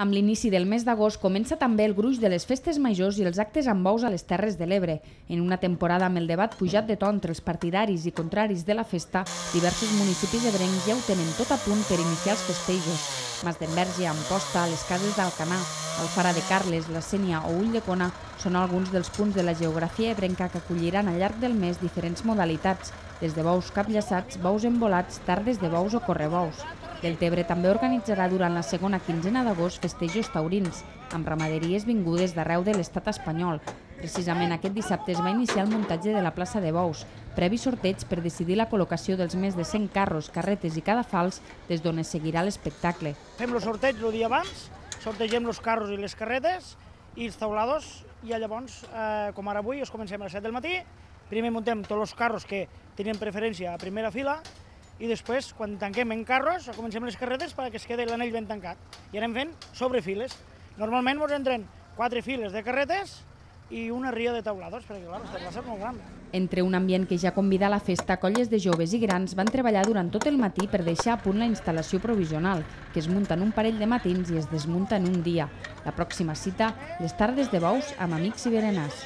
Amb l'inici del mes d'agost comença també el gruix de les festes majors i els actes amb bous a les Terres de l'Ebre. En una temporada amb el debat pujat de to entre els partidaris i contraris de la festa, diversos municipis ebrencs ja ho tenen tot a punt per iniciar els festejos. Masdenverge, Amposta, les Cases d'Alcanar, Alfara de Carles, la Sénia o Ulldecona són alguns dels punts de la geografia ebrenca que acolliran al llarg del mes diferents modalitats, des de bous capllaçats, bous embolats, tardes de bous o correbous. Deltebre també organitzarà durant la segona quinzena d'agost festejos taurins, amb ramaderies vingudes d'arreu de l'estat espanyol. Precisament aquest dissabte es va iniciar el muntatge de la plaça de bous, previ sorteig per decidir la col·locació dels més de 100 carros, carretes i cadafals des d'on es seguirà l'espectacle. Fem el sorteig el dia abans, sortegem els carros i les carretes i els taulados, i llavors, com ara avui, comencem a les 7 del matí, primer muntem tots els carros que tenien preferència a primera fila, i després, quan tanquem en carros, comencem les carretes perquè es quedi l'anell ben tancat. I anem fent sobre files. Normalment ens entren 4 files de carretes i una ria de taulados, perquè clar, esta plaça és molt gran. Entre un ambient que ja convida a la festa, colles de joves i grans van treballar durant tot el matí per deixar a punt la instal·lació provisional, que es munta en un parell de matins i es desmunta en un dia. La pròxima cita, les tardes de bous amb amics i berenars.